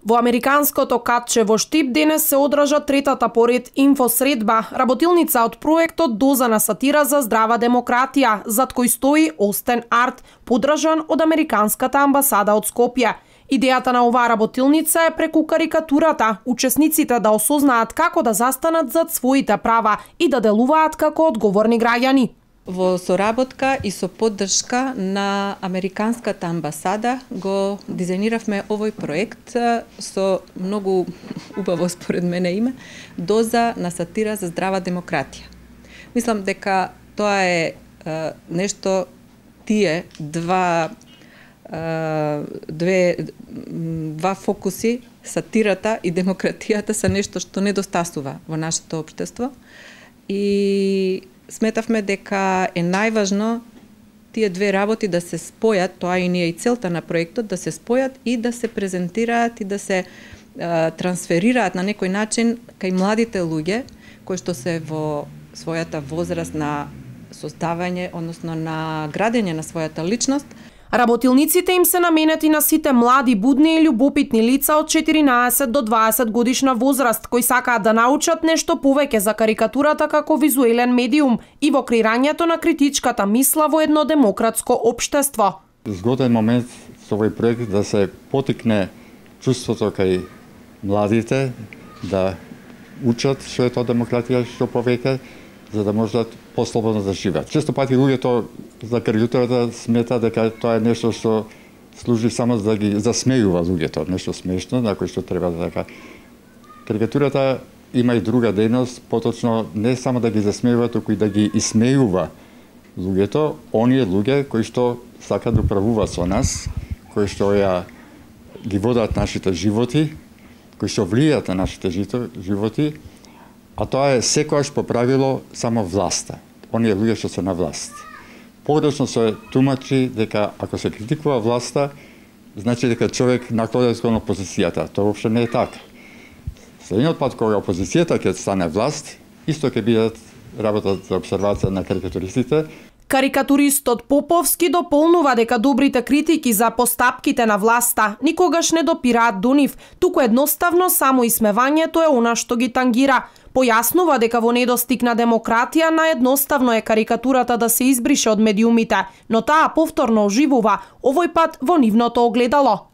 Во американското катче во Штип денес се одржа третата поред инфосредба, работилница од проектот Доза на сатира за здрава демократија, зад кој стои Остен Арт, поддржан од Американската амбасада од Скопје. Идејата на оваа работилница е преку карикатурата учесниците да осознаат како да застанат зад своите права и да делуваат како одговорни граѓани. Во соработка и со поддршка на Американската амбасада го дизајниравме овој проект со многу убаво според мене име Доза на сатира за здрава демократија. Мислам дека тоа е нешто тие два фокуси, сатирата и демократијата се нешто што недостасува во нашето општество и сметавме дека е најважно тие две работи да се спојат, тоа и ние и целта на проектот, да се спојат и да се презентираат и да се трансферираат на некој начин кај младите луѓе кои што се во својата возраст на создавање, односно на градење на својата личност. Работилниците им се наменети на сите млади, будни и љубопитни лица од 14 до 20 годишна возраст, кои сакаат да научат нешто повеќе за карикатурата како визуелен медиум и во креирањето на критичката мисла во едно демократско општество. Згоден момент со овој проект да се потикне чувството кај младите да учат што е тоа демократија што повеќе, за да можат послободно да живеат. Често пати луѓето за карикатурата смета дека тоа е нешто што служи само за да ги засмејува луѓето, нешто смешно, на кој што треба да така. Карикатурата има и друга дејност, поточно не само да ги засмејува, туку и да ги исмејува луѓето, оние луѓе кои што сакаат да управуваат со нас, кои што ги водат нашите животи, кои што влијаат на нашите животи, а тоа е секогаш по правило само власта, оние луѓе што се на власт. Погрешно се тумачи дека ако се критикува власта, значи дека човек наклонет кон опозицијата. Тоа воопшто не е така. Следниот пат кога опозицијата ќе стане власт, исто ќе бидат работа за обсервација на карикатуристите. Карикатуристот Поповски дополнува дека добрите критики за постапките на власта никогаш не допираат до нив, туку едноставно само исмевањето е она што ги тангира. Појаснува дека во недостиг на демократија наедноставно е карикатурата да се избрише од медиумите, но таа повторно оживува, овој пат во нивното огледало.